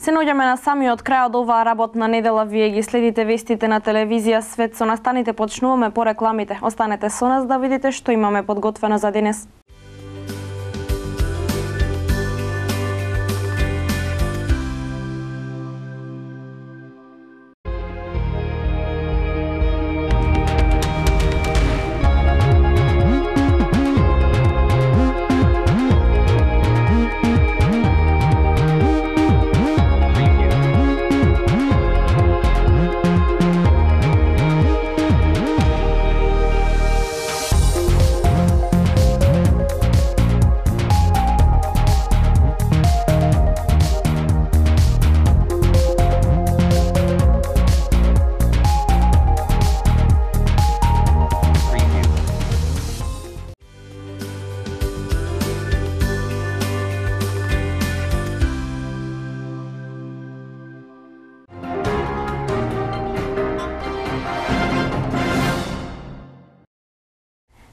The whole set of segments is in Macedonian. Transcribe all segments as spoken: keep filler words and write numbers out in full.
Се наоѓаме на самиот крај од оваа работна недела. Вие ги следите вестите на телевизија Свет. Со настаните почнуваме по рекламите. Останете со нас да видите што имаме подготвено за денес.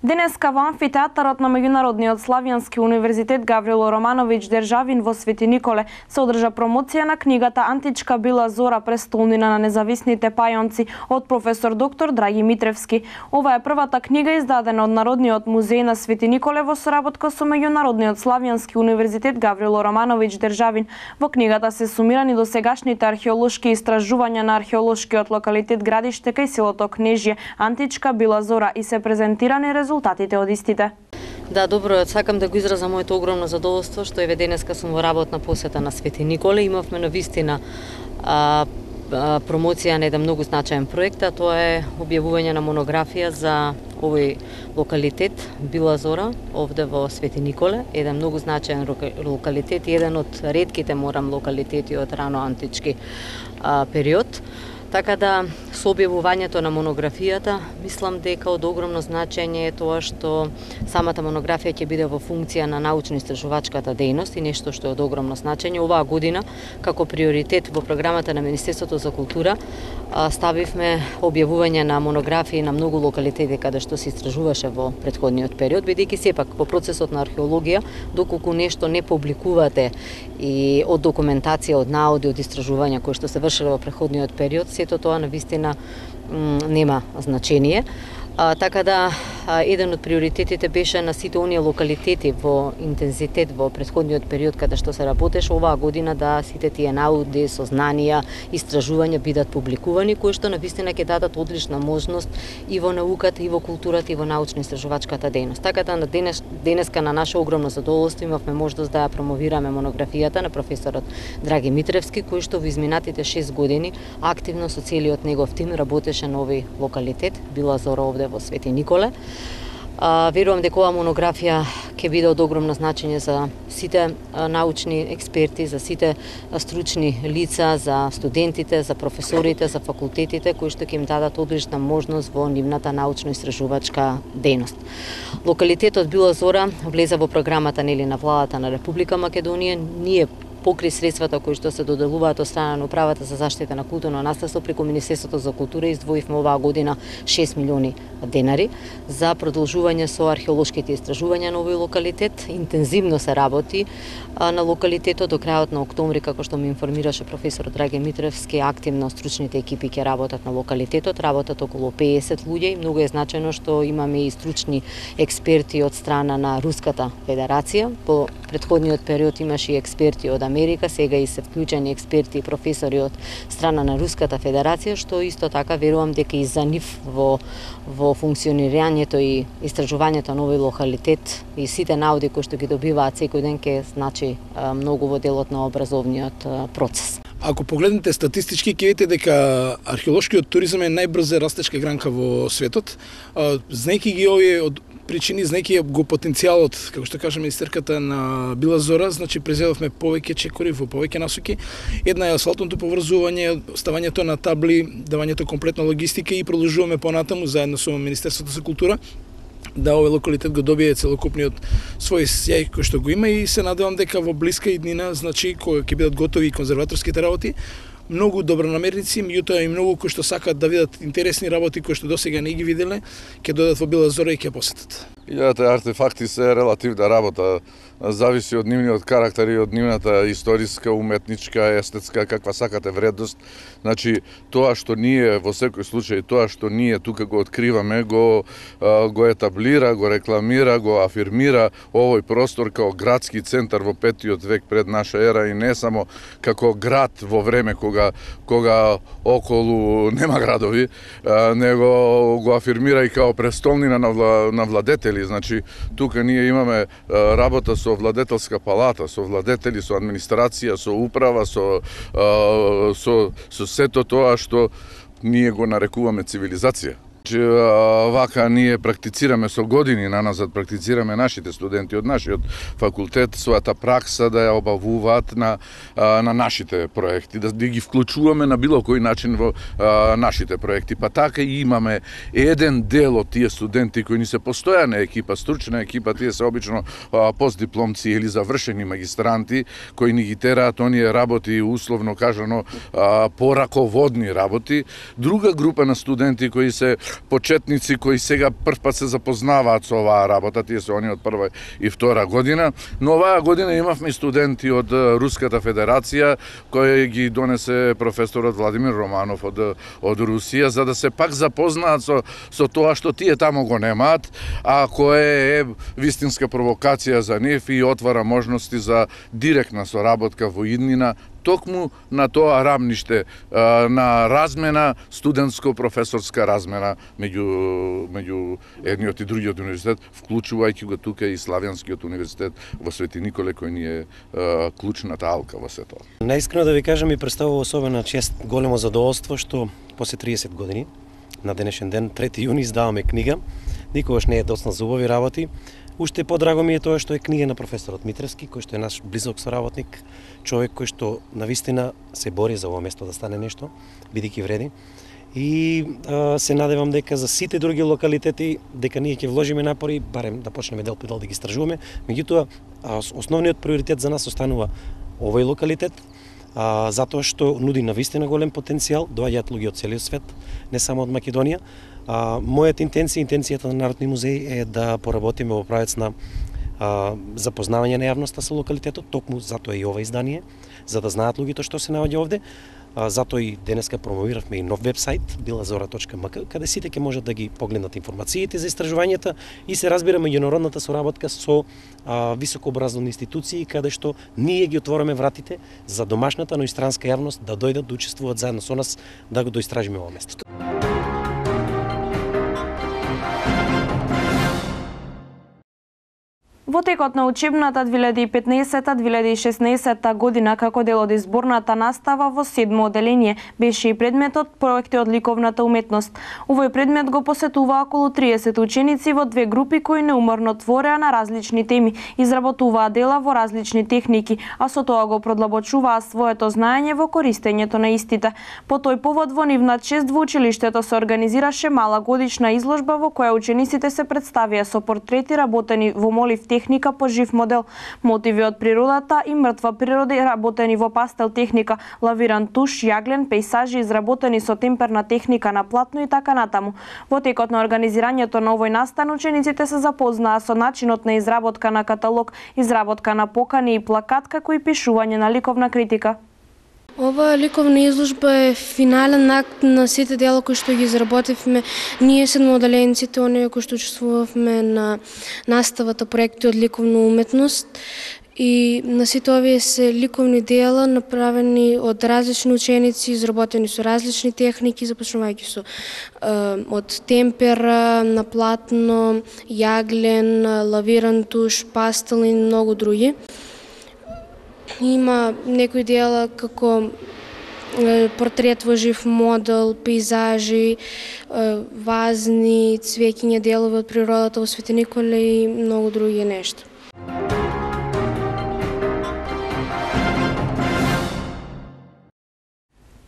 Денеска во амфитеатарот на Меѓународниот славјански универзитет Гаврило Романовиќ Державин во Свети Николе се одржа промоција на книгата Античка била зора, престолнина на независните пајонци од професор доктор Драги Митревски. Ова е првата книга издадена од Народниот музеј на Свети Николе во соработка со Меѓународниот славјански универзитет Гаврило Романовиќ Державин. Во книгата се сумирани досегашните археолошки истражувања на археолошкиот локалитет Градиште кај селото Кнежје, Античка била зора и се презентирани резултатите од истите. Да, добро, сакам да го изразам моето огромно задоволство што еве денеска сум во работна посета на Свети Николе. Имавме навистина а, а, промоција на еден многу значаен проект, а тоа е објавување на монографија за овој локалитет Била зора овде во Свети Николе, еден многу значаен локалитет и еден од ретките морам локалитети од рано антички а, период. Така да, со објавувањето на монографијата, мислам дека од огромно значење е тоа што самата монографија ќе биде во функција на научно-истражувачката дејност и нешто што е од огромно значење. Оваа година, како приоритет во програмата на Министерството за култура, ставивме објавување на монографии на многу локалитети каде што се истражуваше во претходниот период, бидејќи сепак во процесот на археологија, доколку нешто не публикувате и од документација, од наоди, од истражувања кои што се вршеле во претходниот период, сето тоа навистина нема значение. А, така да, а, еден од приоритетите беше на сите оние локалитети во интензитет во претходниот период каде што се работеше оваа година да сите тие науди, сознанија, истражувања бидат публикувани, кои што навистина ќе дадат одлична можност и во науката, и во културата, и во научно-истражувачката дејност. Така да, на денес, денеска на наше огромно задоволство имавме можност да ја промовираме монографијата на професорот Драги Митревски, кој што во изминатите шест години активно со целиот негов тим работеше на овој локалитет Била зора овде во Свети Николе. А, верувам дека оваа монографија ќе биде од огромно значење за сите а, научни експерти, за сите а, стручни лица, за студентите, за професорите, за факултетите, кои што ќе им дадат одлична можност во нивната научно-истражувачка дејност. Локалитетот Била зора влезе во програмата нели на владата на Република Македонија. Ние покри средствата кои што се доделуваат од страна на Управата за заштита на културно наследство преку Министерството за култура, издвоивме оваа година шест милиони денари за продолжување со археолошките истражувања на овој локалитет. Интензивно се работи а, на локалитетот до крајот на октомври, како што ме информираше професор Драги Митревски, активно стручните екипи ќе работат на локалитетот, работат околу педесет луѓе и многу е значајно што имаме и стручни експерти од страна на Руската Федерација. По претходниот период имаше и експерти од Америка, сега и се вклучени експерти и професори од страна на Руската Федерација, што исто така верувам дека и за нив во во функционирањето и истражувањето на овој локалитет и сите науди кои што ги добиваат секој ден ќе значи многу во делот на образовниот процес. Ако погледнете статистички, ќе видите дека археолошкиот туризам е најбрза растечка гранка во светот. Знаејќи ги овие од причини, знаејќи го потенцијалот, како што кажа министерката на Била зора, значи презедовме повеќе чекори во повеќе насоки. Една е асфалтното поврзување, ставањето на табли, давањето комплетна логистика и продолжуваме понатаму заедно со Министерството за култура да овој локалитет го добие целокупниот свој сјај кој што го има и се надевам дека во блиска иднина, значи кога ќе бидат готови конзерваторските работи, многу добронамерници, меѓутоа и многу кои што сакаат да видат интересни работи кои што досега не ги виделе, ќе додат во Била зора и ќе посетат. Илјадата артефакти се релативна работа. зависи од нивниот карактер и од нивната историска, уметничка, естетска, каква сакате вредност. Значи, тоа што ние во секој случај, тоа што ние тука го откриваме, го го етаблира, го рекламира, го афирмира овој простор као градски центар во петиот век пред наша ера и не само како град во време кога кога околу нема градови, него го афирмира и као престолнина на, вла, на владетели. Значи, тука ние имаме работа со владетелска палата, со владетели, со администрација, со управа, со, со, со сето тоа што ние го нарекуваме цивилизација. Вака ние практицираме со години наназад, практицираме нашите студенти од нашиот факултет својата пракса да ја обавуваат на на нашите проекти, да ги вклучуваме на било кој начин во а, нашите проекти. Па така и имаме еден дел од тие студенти кои ни се постојана екипа, стручна екипа, тие се обично а, постдипломци или завршени магистранти кои ни ги тераат оние работи условно кажано а, пораководни работи. Друга група на студенти кои се почетници кои сега прв пат се запознаваат со оваа работа, тие се они од прва и втора година, но оваа година имавме студенти од Руската Федерација кои ги донесе професорот Владимир Романов од од Русија за да се пак запознаат со со тоа што тие таму го немаат, а кое е вистинска провокација за нив и отвара можности за директна соработка во иднина токму на тоа рамниште на размена, студентско-професорска размена меѓу меѓу едниот и другиот универзитет, вклучувајќи го тука и Славјанскиот универзитет во Свети Николе кој ни е клучната алка во сето. Наискрено да ви кажам, ми представува особена чест, големо задоволство што после триесет години на денешен ден, трети јуни, издаваме книга. Никогаш не е доцна за убави работи. Уште подраго ми е тоа што е книга на професорот Митревски, кој што е наш близок соработник, човек кој што навистина се бори за ово место да стане нешто, бидејќи вреди. И а, се надевам дека за сите други локалитети дека ние ќе вложиме напори, барем да почнеме дел по дел да ги истражуваме. Меѓутоа, основниот приоритет за нас останува овој локалитет, а, затоа што нуди навистина голем потенцијал, доаѓаат луѓе од целиот свет, не само од Македонија. А, мојата интенција, интенцијата на Народни музеј е да поработиме во правец на а, запознавање на јавноста со локалитетот, токму затоа и ова издание, за да знаат луѓето што се наоѓа овде. А, затоа и денеска промовиравме и нов вебсайт билазора точка ем ка, каде сите ќе можат да ги погледнат информациите за истражувањата и се разбира меѓународната соработка со а, високообразовни институции, каде што ние ги отвораме вратите за домашната, но и странска јавност да дојдат да учествуваат заедно со нас да го доистражиме ова место. Во текот на учебната две илјади и петнаесета - две илјади и шеснаесета година како дел од изборната настава во седмо оделение беше и предметот проекти од ликовната уметност. Овој предмет го посетува околу триесет ученици во две групи кои неуморно твореа на различни теми, изработуваа дела во различни техники, а со тоа го продлабочуваа своето знаење во користењето на истите. По тој повод во нивна чест во училиштето се организираше мала годишна изложба во која учениците се представија со портрети работени во молив техника по жив модел, мотиви од природата и мртва природа работени во пастел техника, лавиран туш, јаглен, пејсажи изработени со темперна техника на платно и така натаму. Во текот на организирањето на овој настан учениците се запознаа со начинот на изработка на каталог, изработка на покани и плакат, како и пишување на ликовна критика. Ова ликовна изложба е финален акт на сите дела кои што ги изработивме ние седмооделенците, оние кои што учествувавме на наставата проекти од ликовна уметност. И на сите овие се ликовни дела направени од различни ученици, изработени со различни техники, започнувајќи со е, од темпера, на платно, јаглен, лавиран туш, пастел и многу други. Има некои дела како портрет во жив модел, пейзажи, вазни, цвеќиња, делови од природата во Свети Николе и многу други нешта.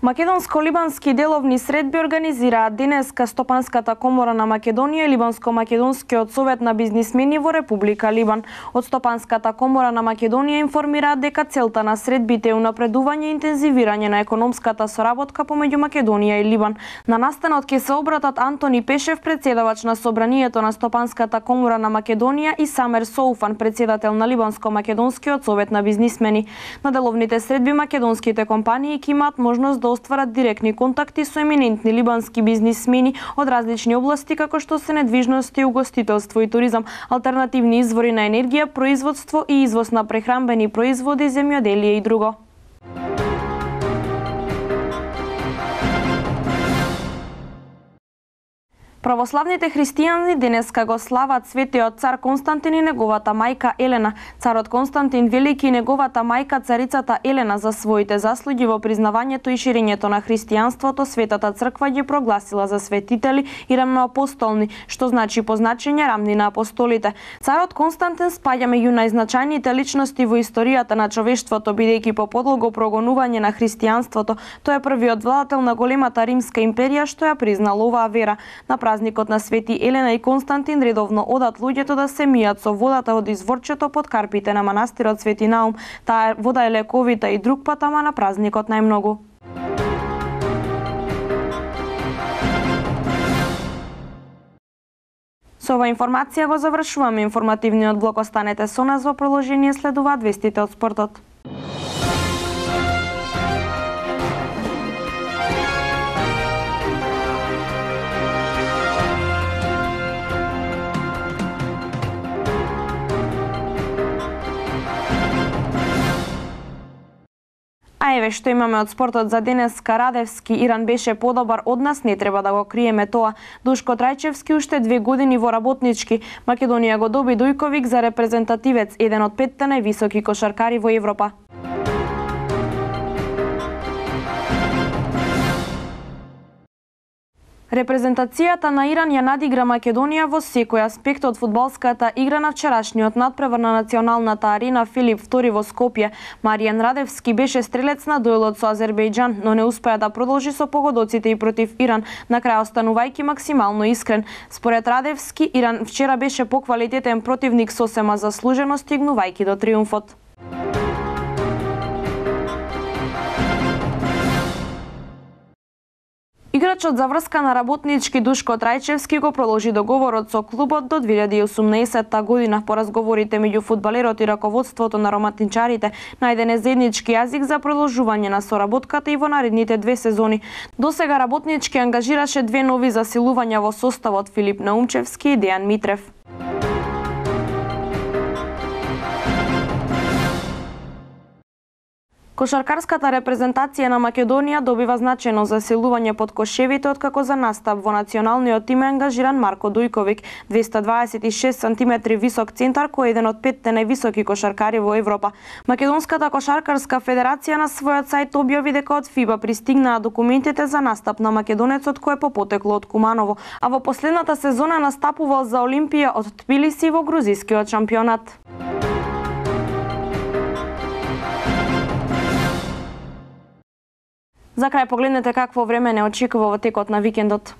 Македонско-либански деловни средби организираат денеска Стопанската комора на Македонија и Либанско-македонскиот совет на бизнисмени во Република Либан. Од Стопанската комора на Македонија информираат дека целта на средбите е унапредување и интензивирање на економската соработка помеѓу Македонија и Либан. На настанот ќе се обратат Антони Пешев, председавач на собранието на Стопанската комора на Македонија, и Самер Соуфан, председател на Либанско-македонскиот совет на бизнисмени. На деловните средби македонските компании ќе имаат можност да остварат директни контакти со еминентни либански бизнисмени од различни области, како што се недвижности, угостителство и туризам, алтернативни извори на енергија, производство и извоз на прехранбени производи, земјоделие и друго. Православните христијани денеска го слават светиот цар Константин и неговата мајка Елена. Царот Константин Велики и неговата мајка царицата Елена за своите заслуги во признавањето и ширењето на христијанството, Светата црква ги прогласила за светители и рамноапостолни, што значи позначење рамни на апостолите. Царот Константин спаѓа меѓу најзначајните личности во историјата на човештвото, бидејќи по подлого прогонување на христијанството, тој е првиот владател на големата римска империја што ја признала оваа вера. На празникот на Свети Елена и Константин редовно одат луѓето да се мијат со водата од изворчето под карпите на манастирот Свети Наум. Таа вода е лековита и друг пат, ама на празникот најмногу. Со ова информација го завршуваме информативниот блок. Останете со нас, во продолжение следуваат вестите од спортот. А еве што имаме од спортот за денеска. Радевски Иран беше подобар од нас, не треба да го криеме тоа. Душко Трајчевски уште две години во работнички. Македонија го доби Дујковик за репрезентативец, еден од петте највисоки кошаркари во Европа. Репрезентацијата на Иран ја надигра Македонија во секој аспект од фудбалската игра на вчерашниот надпревар на националната арена Филип втори во Скопје. Маријан Радевски беше стрелец на дуелот со Азербејџан, но не успеа да продолжи со погодоците и против Иран, на крај останувајќи максимално искрен. Според Радевски, Иран вчера беше поквалитетен противник, сосема заслужено стигнувајќи до триумфот. Играчот за врска на работнички Душко Трајчевски го продолжи договорот со клубот до две илјади и осумнаесетта година. По разговорите меѓу фудбалерот и раководството на романтичарите најден е заеднички јазик за продолжување на соработката и во наредните две сезони. Досега работнички ангажираше две нови засилувања во составот: Филип Наумчевски и Дејан Митрев. Кошаркарската репрезентација на Македонија добива значајно засилување под кошевите, откако за настап во националниот тим е ангажиран Марко Дујковик, двеста дваесет и шест сантиметри висок центар, кој е еден од петте највисоки кошаркари во Европа. Македонската кошаркарска федерација на својот сајт објави дека од ФИБА пристигнаа документите за настап на македонецот, кој е по потекло од Куманово, а во последната сезона настапувал за Олимпија од Тбилиси во грузискиот шампионат. За крај погледнете какво време не очекува во текот на викендот.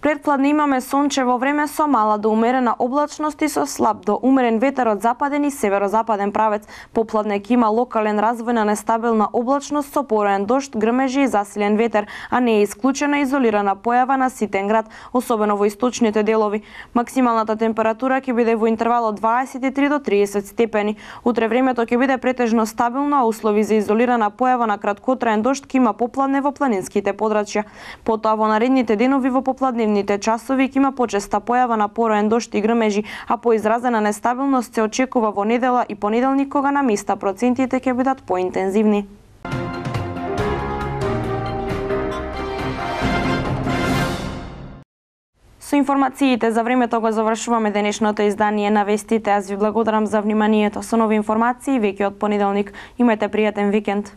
Предпладне имаме сончево време со мала до умерена облачност и со слаб до умерен ветер од западен и северозападен правец. Попладне ќе има локален развој на нестабилна облачност со пороен дожд, грмежи и засилен ветер, а не е исклучена изолирана појава на ситен град, особено во источните делови. Максималната температура ќе биде во интервал од дваесет и три до триесет степени. Утре времето ќе биде претежно стабилно, а услови за изолирана појава на краткотраен дожд ќе има попладне во планинските подрачја. Потоа во наредните денови во попладневни часови ќе има почеста појава на пороен дожд и грмежи, а поизразена нестабилност се очекува во недела и понеделник, кога на места процентите ќе бидат поинтензивни. Со информациите за времето го завршуваме денешното издание на вестите. Аз ви благодарам за вниманието. Со нови информации веќе од понеделник. Имајте пријатен викенд.